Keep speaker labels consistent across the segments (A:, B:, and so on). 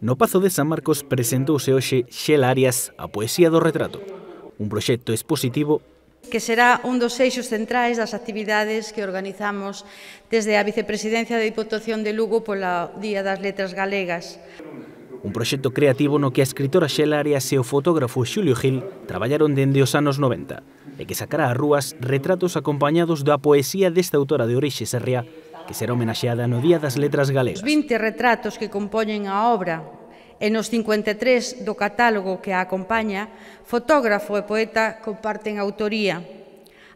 A: No Pazo de San Marcos presentouse hoxe Xela Arias a poesía do retrato, un proxecto expositivo
B: que será un dos eixos centrais das actividades que organizamos desde a Vicepresidencia da Diputación de Lugo pola Día das Letras Galegas.
A: Un proxecto creativo no que a escritora Xela Arias e o fotógrafo Xulio Gil traballaron dende os anos 90 e que sacará ás rúas retratos acompañados da poesía desta autora de orixe serrea que será homenaxeada no Día das Letras Galegas.
B: Os 20 retratos que compoñen a obra e nos 53 do catálogo que a acompaña, fotógrafo e poeta comparten autoría.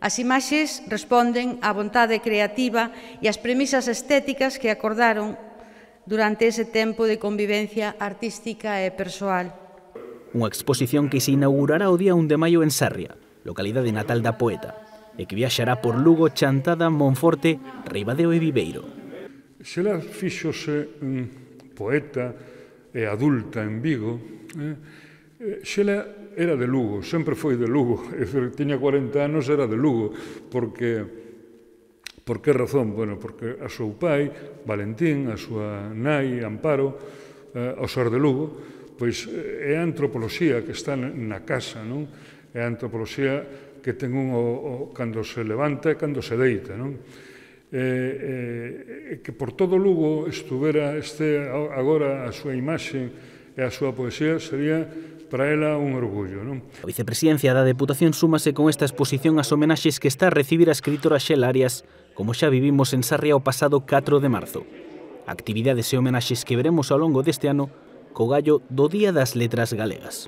B: As imaxes responden á vontade creativa e ás premisas estéticas que acordaron durante ese tempo de convivencia artística e persoal.
A: Unha exposición que se inaugurará o día 1 de maio en Sarria, localidade natal da poeta, e que viaxará por Lugo, Chantada, Monforte, Ribadeo e Viveiro.
C: Xela fíxose poeta e adulta en Vigo. Xela era de Lugo, sempre foi de Lugo, tiña 40 anos, era de Lugo, porque por que razón? Bueno, porque a seu pai, Valentín, a súa nai, Amparo, ao ser de Lugo, pois é a antropoloxía que está na casa, non? É a antropoloxía que ten un cando se levanta e cando se deita, non? Que por todo Lugo estuvera agora a súa imaxe e a súa poesía sería para ela un orgullo, non?
A: A Vicepresidencia da Deputación súmase con esta exposición ás homenaxes que está a recibir a escritora Xela Arias, como xa vivimos en Sarria o pasado 4 de marzo. Actividades e homenaxes que veremos ao longo deste ano co gallo do Día das Letras Galegas.